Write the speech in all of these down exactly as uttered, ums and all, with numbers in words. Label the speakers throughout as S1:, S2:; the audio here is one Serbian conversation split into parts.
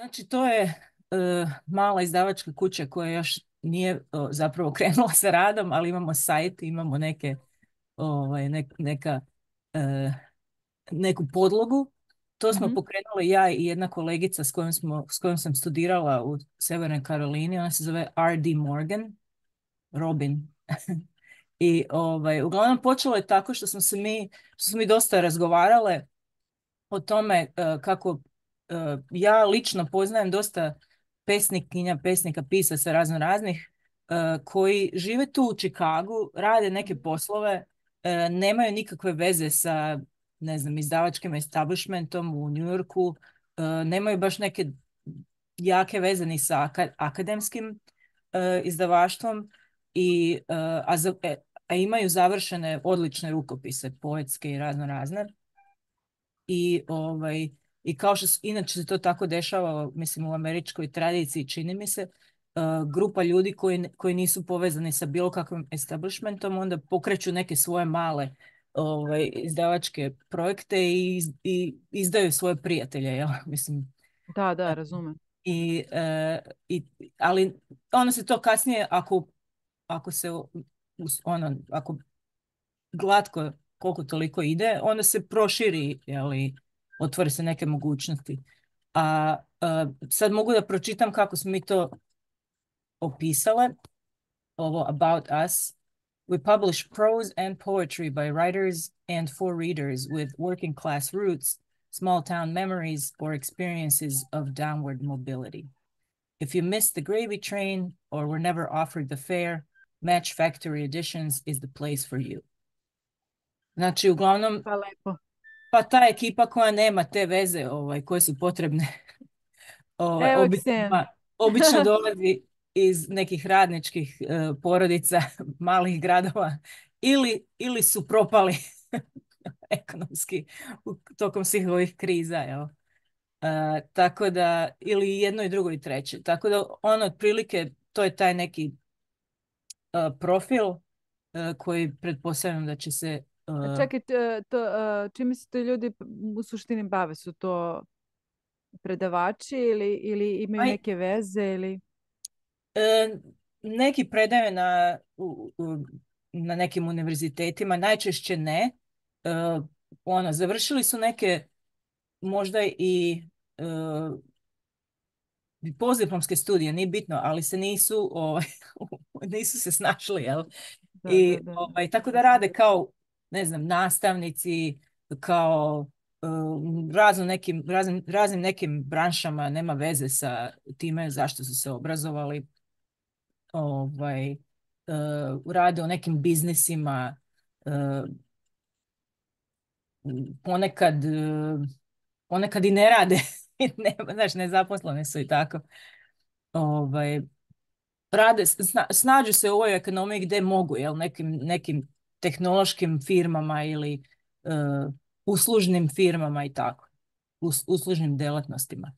S1: Znači, to je e, mala izdavačka kuća koja još nije o, zapravo krenula sa radom, ali imamo sajt, imamo neke, ovaj, nek- neka, e, neku podlogu. To smo
S2: Mhm.
S1: pokrenuli ja i jedna kolegica s kojom, smo, s kojom sam studirala u Severnoj Karolini. Ona se zove R D. Morgan, Robin. I ovaj, uglavnom počelo je tako što smo se mi, što smo mi dosta razgovarale o tome e, kako e, ja lično poznajem dosta pesnikinja, pesnika, pisaca razno raznih e, koji žive tu u Čikagu, rade neke poslove, e, nemaju nikakve veze sa, ne znam, izdavačkim establishmentom u New Yorku, e, nemaju baš neke jake veze ni sa aka- akademskim e, izdavaštvom i e, a, za- e, a imaju završene odlične rukopise, poetske i razno razne. I, ovaj, i kao što s- inače se to tako dešava, mislim, u američkoj tradiciji, čini mi se, uh, grupa ljudi koji, n- koji nisu povezani sa bilo kakvim establishmentom, onda pokreću neke svoje male ovaj, izdavačke projekte i, iz- i izdaju svoje prijatelje, jel? Mislim,
S2: Da, da,
S1: eh,
S2: razumem.
S1: i, eh, i, ali ono se to kasnije, ako, ako se us- ono, ako glatko koliko toliko ide, onda se proširi, jeli, otvore se neke mogućnosti. A, a sad mogu da pročitam kako smo mi to opisale, ovo About Us. We publish prose and poetry by writers and for readers with working class roots, small town memories, or experiences of downward mobility. If you missed the gravy train or were never offered the fare, Match Factory Editions is the place for you. Znači, uglavnom,
S2: Pa lepo.
S1: pa ta ekipa koja nema te veze ovaj, koje su potrebne ovaj,
S2: Evo Ksen.
S1: obično, obično dolazi iz nekih radničkih eh, porodica malih gradova ili, ili su propali ekonomski u- tokom svih ovih kriza. Jel? Eh, tako da, ili jedno i drugo i treće. Tako da ono otprilike, to je taj neki eh, profil eh, koji pretpostavljam da će se
S2: A
S1: eh,
S2: čekaj, t- to, a, čime se to ljudi p- u suštini bave? Su to predavači ili, ili imaju
S1: aj,
S2: neke veze ili...
S1: E, neki predaju na, u- u- na nekim univerzitetima, najčešće ne. E, ono, završili su neke možda i e, postdiplomske studije, nije bitno, ali se nisu, ovaj, nisu se snašli, jel?
S2: Da, da,
S1: I
S2: da, da.
S1: ovaj, tako da rade kao, ne znam, nastavnici, kao um, razno nekim, raznim, raznim nekim branšama, nema veze sa time zašto su se obrazovali, ovaj, uh, rade u nekim biznisima, uh, ponekad, uh, ponekad i ne rade, ne, znaš, nezaposlene su i tako. Ovaj, rade, sna, snađu se u ovoj ekonomiji gdje mogu, jel, nekim, nekim tehnološkim firmama ili uh, uslužnim firmama i tako, us, uslužnim delatnostima.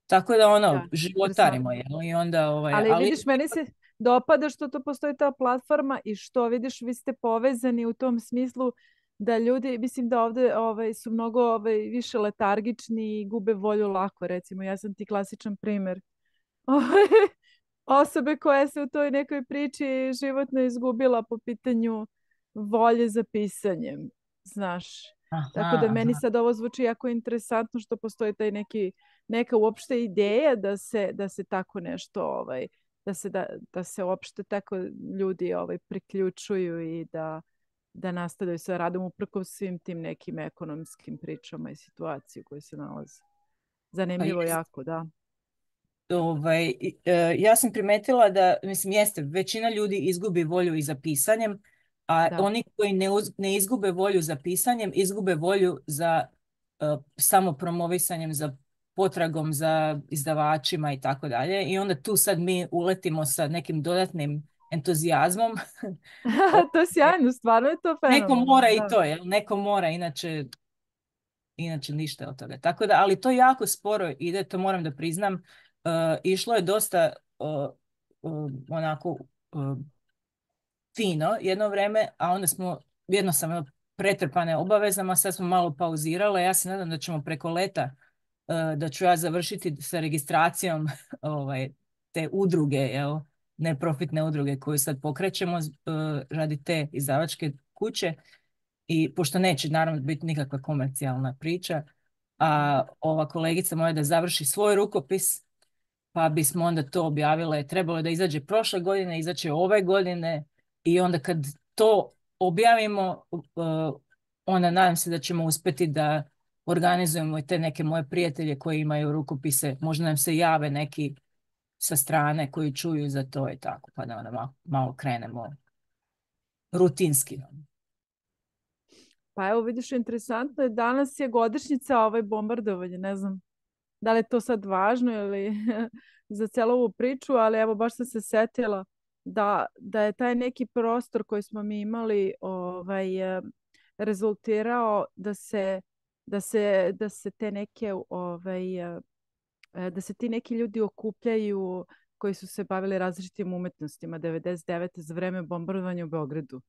S1: Tako da ono,
S2: Da,
S1: životarimo,
S2: interesantno.
S1: jel, i onda, ovaj,
S2: Ali
S1: ali
S2: vidiš, meni se dopada što to postoji ta platforma i što vidiš, vi ste povezani u tom smislu da ljudi, mislim da ovdje ovaj, su mnogo ovaj, više letargični i gube volju lako, recimo. Ja sam ti klasičan primjer osobe koja se u toj nekoj priči životno izgubila po pitanju volje za pisanjem, znaš. Tako
S1: aha,
S2: da meni
S1: aha.
S2: sad ovo zvuči jako interesantno što postoji taj neki, neka uopšte ideja da se, da se tako nešto, ovaj, da se, da, da se uopšte tako ljudi ovaj, priključuju i da, da nastavljaju sa radom uprkos svim tim nekim ekonomskim pričama i situaciji u kojoj se nalaze.
S1: Pa
S2: Zanimljivo
S1: jest.
S2: jako, da.
S1: Ovaj, i- e, ja sam primetila da, mislim, jeste, većina ljudi izgubi volju i za pisanjem, a
S2: Da.
S1: oni koji ne, uz- ne izgube volju za pisanjem, izgube volju za e, samopromovisanjem, za potragom za izdavačima i tako dalje. I onda tu sad mi uletimo sa nekim dodatnim entuzijazmom.
S2: To je sjajno, stvarno je to
S1: Neko
S2: fenomenalno,
S1: mora i
S2: da.
S1: to, jel? Neko mora, inače, inače ništa od toga. Tako da, ali to jako sporo ide, to moram da priznam. Uh, išlo je dosta uh, uh, onako uh, fino jedno vreme, a onda smo jednostavno pretrpane obavezama, sad smo malo pauzirale. Ja se nadam da ćemo preko leta da ću ja završiti sa registracijom ovaj, te udruge, jel, neprofitne udruge koju sad pokrećemo radi te izdavačke kuće. I pošto neće naravno biti nikakva komercijalna priča, a ova kolegica moja da završi svoj rukopis, pa bismo onda to objavile. Trebalo je da izađe prošle godine, izaće ove godine i onda kad to objavimo, onda nadam se da ćemo uspjeti da organizujemo i te neke moje prijatelje koji imaju rukopise. Možda nam se jave neki sa strane koji čuju za to i tako, pa da onda malo, malo krenemo rutinski.
S2: Pa evo vidiš, interesantno je, danas je godišnjica ovaj bombardovanje, ne znam da li je to sad važno ili za celu ovu priču, ali evo baš sam se setila da, da je taj neki prostor koji smo mi imali ovaj, eh, rezultirao da se, da se, da se te neke ovaj, eh, da se ti neki ljudi okupljaju koji su se bavili različitim umetnostima devedeset devete za vreme bombardovanja u Beogradu.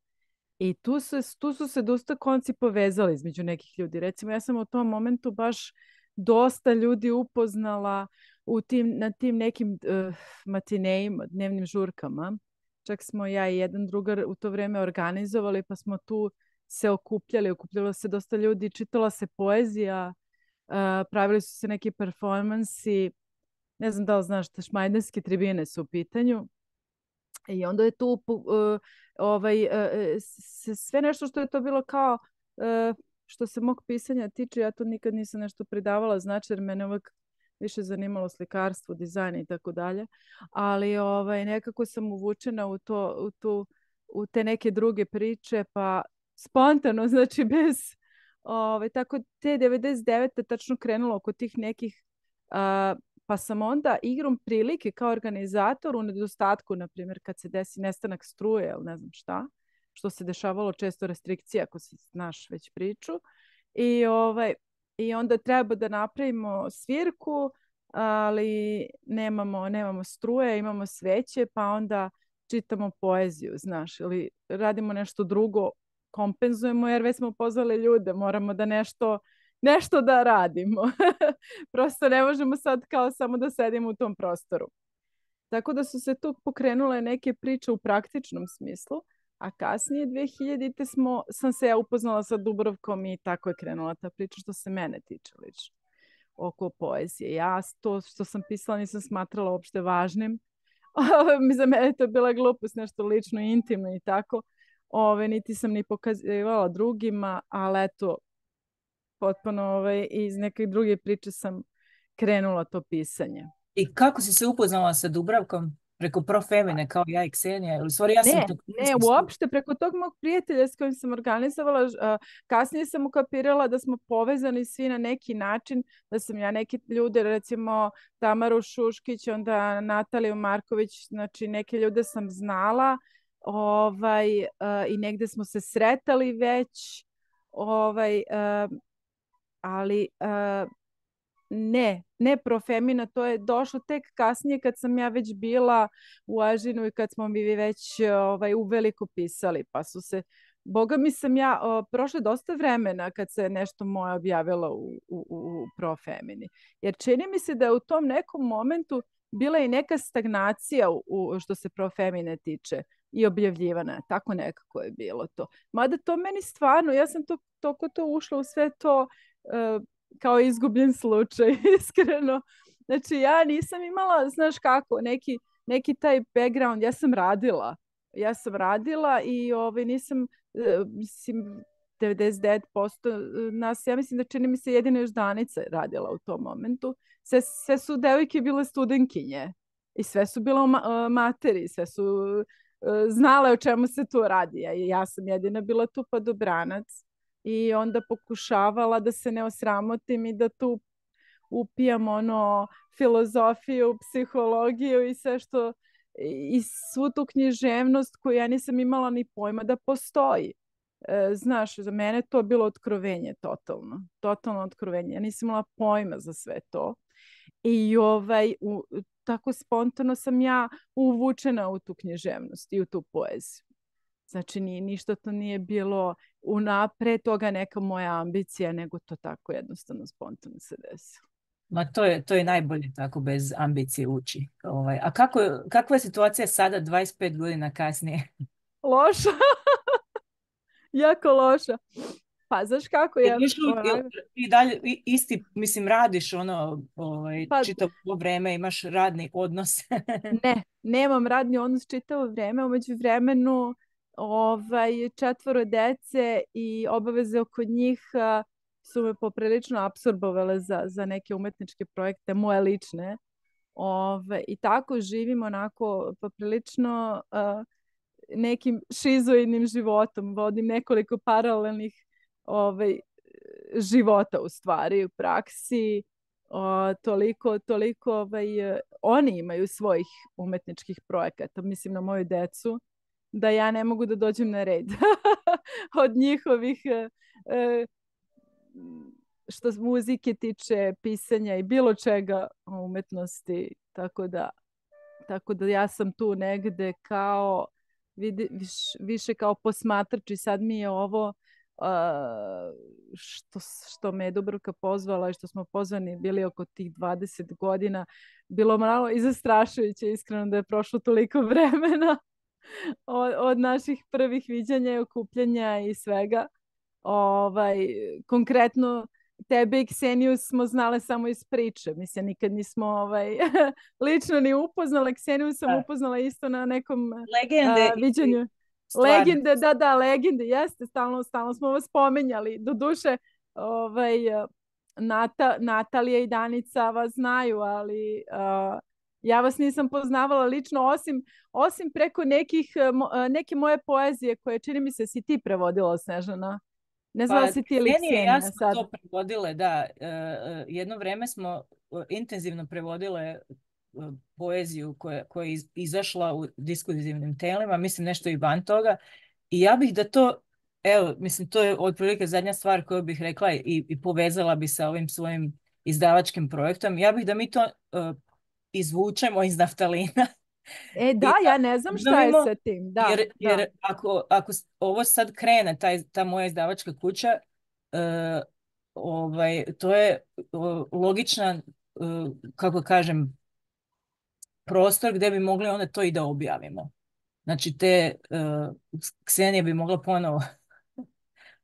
S2: I tu, se, tu su se dosta konci povezali između nekih ljudi. Recimo, ja sam u tom momentu baš dosta ljudi upoznala u tim, na tim nekim uh, matinejima, dnevnim žurkama. Čak smo ja i jedan drugar u to vreme organizovali, pa smo tu se okupljali. Okupljalo se dosta ljudi, čitala se poezija, uh, pravili su se neki performansi. Ne znam da li znaš, te šmajdanske tribine su u pitanju. I onda je tu uh, ovaj, uh, sve nešto što je to bilo kao uh, što se mog pisanja tiče, ja to nikad nisam nešto pridavala znači, jer mene uvek više zanimalo slikarstvo, dizajn i tako dalje, ali ovaj, nekako sam uvučena u, to, u, tu, u te neke druge priče, pa spontano, znači bez ovaj, tako te devedeset devete tačno krenulo oko tih nekih uh, pa sam onda igrom prilike kao organizator u nedostatku, na primjer, kad se desi nestanak struje ili ne znam šta, što se dešavalo često restrikcija, ako si znaš već priču. I, ovaj, i onda treba da napravimo svirku, ali nemamo, nemamo struje, imamo sveće, pa onda čitamo poeziju, znaš, ili radimo nešto drugo, kompenzujemo, jer već smo pozvali ljude, moramo da nešto nešto da radimo. Prosto ne možemo sad kao samo da sedimo u tom prostoru. Tako da su se tu pokrenule neke priče u praktičnom smislu, a kasnije dve hiljadite smo, sam se ja upoznala sa Dubrovkom i tako je krenula ta priča što se mene tiče lično oko poezije. Ja to što sam pisala nisam smatrala uopšte važnim. Za mene to je bila glupost, nešto lično, intimno i tako. Ove, niti sam ni pokazivala drugima, ali eto, potpuno ovaj, iz neke druge priče sam krenula to pisanje.
S1: I kako si se upoznala sa Dubravkom? Preko Profemine, kao ja i Ksenija? Ili, stvari, ja sam
S2: ne,
S1: to...
S2: ne, uopšte preko tog mog prijatelja s kojim sam organizovala, uh, kasnije sam ukapirala da smo povezani svi na neki način, da sam ja neke ljude, recimo Tamaru Šuškić, onda Nataliju Marković, znači neke ljude sam znala, ovaj, uh, i negde smo se sretali već, ovaj, uh, ali uh, ne, ne Profemina, to je došlo tek kasnije kad sam ja već bila u Ažinu i kad smo mi već ovaj, uveliko pisali, pa su se, boga mi sam ja, o, prošle dosta vremena kad se nešto moje objavilo u, u, u Profemini, jer čini mi se da je u tom nekom momentu bila i neka stagnacija u, u, što se Profemine tiče i objavljivana, tako nekako je bilo to. Mada to meni stvarno, ja sam to, toko to ušla u sve to uh, kao izgubljen slučaj, iskreno. Znači, ja nisam imala, znaš kako, neki, neki taj background, ja sam radila. Ja sam radila i ovaj, nisam, uh, mislim, devedeset devet posto nas, ja mislim da čini mi se jedina još Danica radila u tom momentu. Sve, sve su devojke bile studenkinje i sve su bile ma materi, sve su uh, znale o čemu se tu radi. Ja, ja sam jedina bila tu padobranac i onda pokušavala da se ne osramotim i da tu upijam ono filozofiju, psihologiju i sve što i svu tu književnost koju ja nisam imala ni pojma da postoji. E, znaš, za mene to bilo otkrovenje totalno. Totalno otkrovenje. Ja nisam imala pojma za sve to. I ovaj, u, tako spontano sam ja uvučena u tu književnost i u tu poeziju. Znači, ni, ništa to nije bilo unapred toga neka moja ambicija, nego to tako jednostavno spontano se desilo.
S1: Ma to je, to je najbolje tako bez ambicije ući. Ovaj, a kako, kakva je situacija sada dvadeset pet godina kasnije?
S2: Loša, jako loša. Pa znaš kako
S1: Jer
S2: je,
S1: još uvijek- jel
S2: onako,
S1: ti dalje i- isti, mislim, radiš ono, ovaj,
S2: pa
S1: čitavo ovo vrijeme, imaš radni odnos.
S2: ne, nemam radni odnos čitavo vrijeme, umeđu vremenu ovaj, četvoro dece i obaveze oko njih a, su me poprilično apsorbovale za, za neke umetničke projekte, moje lične. Ove, I tako živim onako poprilično a, nekim šizoidnim životom. Vodim nekoliko paralelnih ovaj, života u stvari, u praksi. O, toliko, toliko ovaj, e, oni imaju svojih umetničkih projekata, mislim na moju decu, da ja ne mogu da dođem na red od njihovih e, e, što se muzike tiče, pisanja i bilo čega o umetnosti, tako da, tako da ja sam tu negde kao vidi, viš, više kao posmatrač i sad mi je ovo uh, što, što me je Dubravka pozvala i što smo pozvani bili oko tih dvadeset godina, bilo malo i zastrašujuće, iskreno, da je prošlo toliko vremena od, od naših prvih viđanja i okupljanja i svega. Ovaj, konkretno tebe i Kseniju smo znale samo iz priče. Mislim, nikad nismo ovaj, lično ni upoznala. Kseniju sam
S1: Da.
S2: upoznala isto na nekom
S1: Legende
S2: a,
S1: i
S2: viđenju.
S1: stvarno.
S2: Legende, da, da, legende, jeste, stalno, stalno smo vas spomenjali. Doduše, ovaj, Nata, Natalija i Danica vas znaju, ali a, ja vas nisam poznavala lično, osim, osim preko nekih, mo, neke moje poezije koje čini mi se si ti prevodila, Snežana. Ne znam da
S1: Pa
S2: si ti ili
S1: Ksenija i ja
S2: Ksenija
S1: smo
S2: sad.
S1: to prevodile, da. E, e, jedno vrijeme smo e, intenzivno prevodile e, poeziju koja, koja je iz- izašla u diskurzivnim telima, mislim nešto i van toga. I ja bih da to, evo, mislim, to je otprilike zadnja stvar koju bih rekla i, i povezala bi sa ovim svojim izdavačkim projektom. Ja bih da mi to e, izvučemo iz naftalina
S2: E da,
S1: i da
S2: ja ne znam šta je
S1: obnovimo,
S2: sa tim. Da,
S1: jer,
S2: da.
S1: jer ako, ako s- ovo sad krene, taj, ta moja izdavačka kuća, e, ovaj, to je o, logična, e, kako kažem, prostor gdje bi mogli onda to i da objavimo. Znači, te uh, Ksenija bi mogla ponovo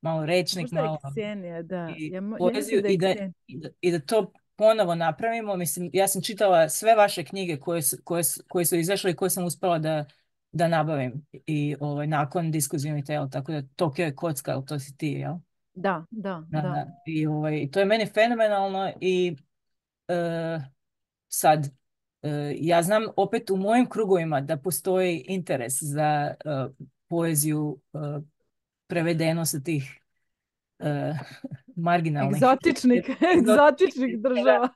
S1: malo rečnik,
S2: Možda je
S1: malo
S2: Ksenija, da.
S1: i
S2: Ja, mo- ja mislim
S1: poeziju
S2: da je
S1: i da,
S2: Ksenija.
S1: i da, i da to ponovo napravimo. Mislim, ja sam čitala sve vaše knjige koje, su- koje, su- koje su izašle i koje sam uspjela da, da nabavim i ovaj, nakon diskuzivnih tela, tako da Tokio je kocka, ali to si ti, jel?
S2: Da, da,
S1: Da,
S2: da.
S1: da. I ovaj, to je meni fenomenalno i e, sad, e, ja znam opet u mojim krugovima da postoji interes za e, poeziju e, prevedeno sa tih e, marginalnih
S2: Egzotičnih,
S1: egzotičnih
S2: egzotičnih
S1: jezika.
S2: država.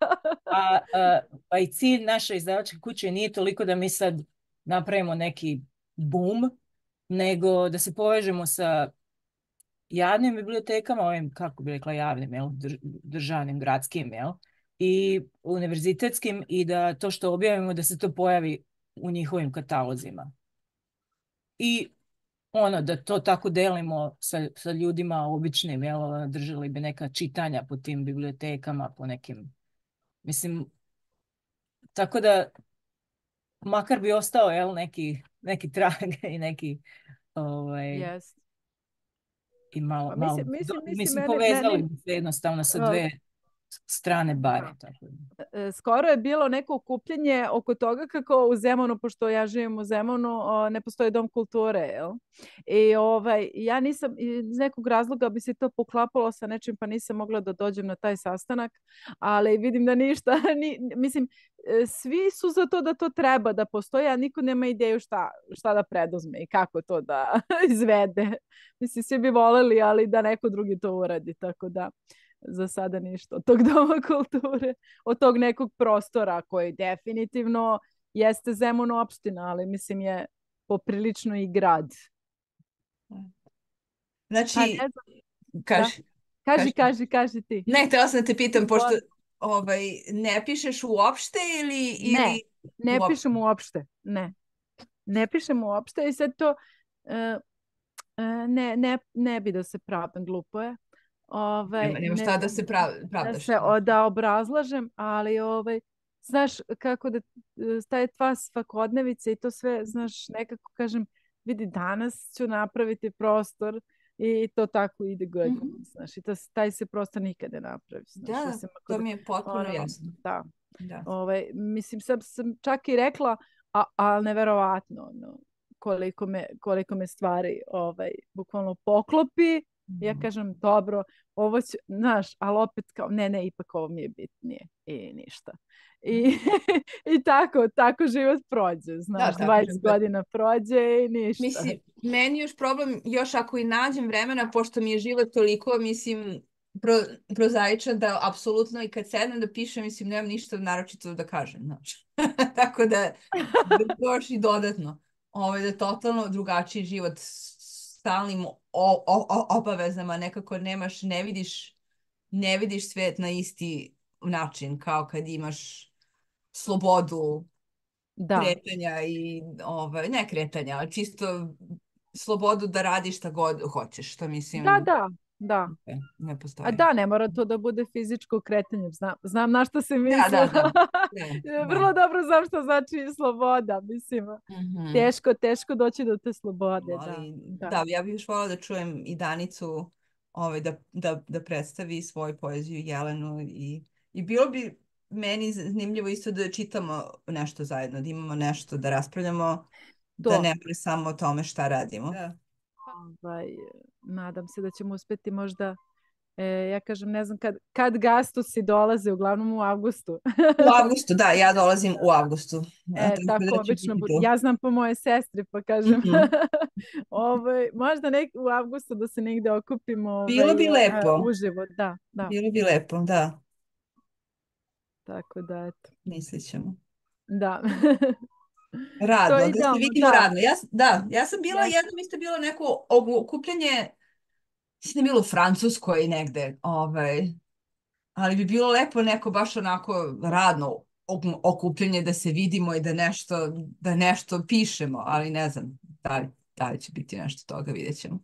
S1: A, a, a i cilj naše izdavačke kuće nije toliko da mi sad napravimo neki boom, nego da se povežemo sa javnim bibliotekama, ovim, kako bi rekla, javnim, jel, dr- državnim, gradskim, jel, i univerzitetskim i da to što objavimo da se to pojavi u njihovim katalozima. I ono, da to tako delimo sa, sa ljudima običnim, jel, ono, držali bi neka čitanja po tim bibliotekama, po nekim, mislim, tako da makar bi ostao, jel, neki, neki trag i neki, ovaj,
S2: Yes.
S1: i malo,
S2: Pa
S1: malo,
S2: mislim,
S1: do-
S2: mislim, mislim,
S1: mislim,
S2: meni,
S1: povezali
S2: meni
S1: bi se jednostavno sa
S2: uh,
S1: dve strane bare,
S2: da.
S1: tako da.
S2: E, skoro je bilo neko okupljenje oko toga kako u Zemunu, pošto ja živim u Zemunu, o, ne postoji dom kulture, jel? I ovaj, ja nisam, iz nekog razloga bi se to poklapalo sa nečim, pa nisam mogla da dođem na taj sastanak, ali vidim da ništa, ni, mislim, e, svi su za to da to treba da postoji, a niko nema ideju šta, šta da preduzme i kako to da izvede. Mislim, svi bi voleli, ali da neko drugi to uradi, tako da za sada ništa od tog doma kulture, od tog nekog prostora koji definitivno jeste Zemun opština, ali mislim je poprilično i grad. Pa
S3: Znači,
S2: ne znam, da.
S3: kaži,
S2: Kaži,
S3: kaži.
S2: kaži, kaži ti.
S3: Ne, htjela sam da te pitam, pošto
S2: Izvoli.
S3: ovaj, ne pišeš uopšte ili,
S2: Ne,
S3: ili
S2: ne
S3: uopšte?
S2: pišem uopšte, ne. Ne pišem uopšte i sad to uh, uh, ne, ne, ne bi da se pravim, glupo je. ovaj,
S3: Nema, nema
S2: ne
S3: šta da
S2: znam,
S3: se prav,
S2: da
S3: pravdaš.
S2: se o- da obrazlažem, ali ovaj, znaš kako da staje tva svakodnevica i to sve, znaš, nekako kažem, vidi, danas ću napraviti prostor i to tako ide godinama,
S3: Mhm.
S2: znaš, i to, taj se prostor nikad ne napravi, znaš,
S3: Da,
S2: osim ako
S3: to
S2: da-
S3: mi je potpuno
S2: ono,
S3: jasno.
S2: da,
S3: Da.
S2: ovaj, mislim, sad sam čak i rekla, a, ali neverovatno, ono, koliko me, koliko me stvari ovaj, bukvalno poklopi. Ja
S3: Mhm.
S2: kažem, dobro, ovo ću, znaš, ali opet kao, ne, ne, ipak ovo mi je bitnije i ništa. I, i tako, tako život prođe, znaš,
S3: tako
S2: dvadeset
S3: život.
S2: godina prođe i ništa.
S3: Mislim, meni još problem, još ako i nađem vremena, pošto mi je život toliko, mislim, pro, prozaičan da apsolutno i kad sednem da pišem, mislim, nemam ništa naročito da kažem, znači. Tako da, da još i dodatno, ovaj, da totalno drugačiji život s stalnim o, o, o, obavezama, nekako nemaš, ne vidiš, ne vidiš svet na isti način, kao kad imaš slobodu
S2: Da,
S3: kretanja i, ovaj, ne kretanja, ali čisto slobodu da radiš šta god hoćeš, što mislim,
S2: da, da, da.
S3: ne, ne
S2: A
S3: postoji.
S2: da, ne mora to da bude fizičko kretanje. Znam, znam na što se
S3: Da,
S2: misli.
S3: da, da. Da,
S2: Vrlo
S3: da.
S2: dobro znam što znači sloboda. Mislim,
S3: Mhm.
S2: teško, teško doći do te slobode. Da,
S3: Ali,
S2: da.
S3: da, ja bih još voljela da čujem i Danicu, ovaj, da, da, da predstavi svoju poeziju Jelenu i, i bilo bi meni zanimljivo isto da čitamo nešto zajedno, da imamo nešto da raspravljamo, da
S2: To.
S3: ne bude samo o tome šta radimo. Da.
S2: Ovaj, nadam se da ćemo uspjeti možda, e, ja kažem, ne znam kad, kad gastusi dolaze, uglavnom u avgustu.
S3: U avgustu, da, ja dolazim u avgustu.
S2: E,
S3: Tako
S2: tako
S3: da ću
S2: obično
S3: biti
S2: bude.
S3: tu.
S2: Ja znam po moje sestri, pa kažem,
S3: Mhm.
S2: ovaj, možda nek, u avgustu da se negdje okupimo ovaj,
S3: Bilo bi
S2: e,
S3: lepo.
S2: uživo. Da, da.
S3: Bilo bi lepo, da.
S2: Tako da, eto.
S3: Mislit ćemo.
S2: Da. To
S3: Radno,
S2: je
S3: da se
S2: idealno,
S3: vidimo
S2: da.
S3: radno. Ja, s- da, ja sam bila,
S2: Jeste.
S3: jednom isto bilo neko okupljanje, mislim da je bilo u Francuskoj negde, ovaj, ali bi bilo lepo neko baš onako radno ok- okupljanje da se vidimo i da nešto, da nešto pišemo, ali ne znam da li, da li će biti nešto toga, vidjet ćemo.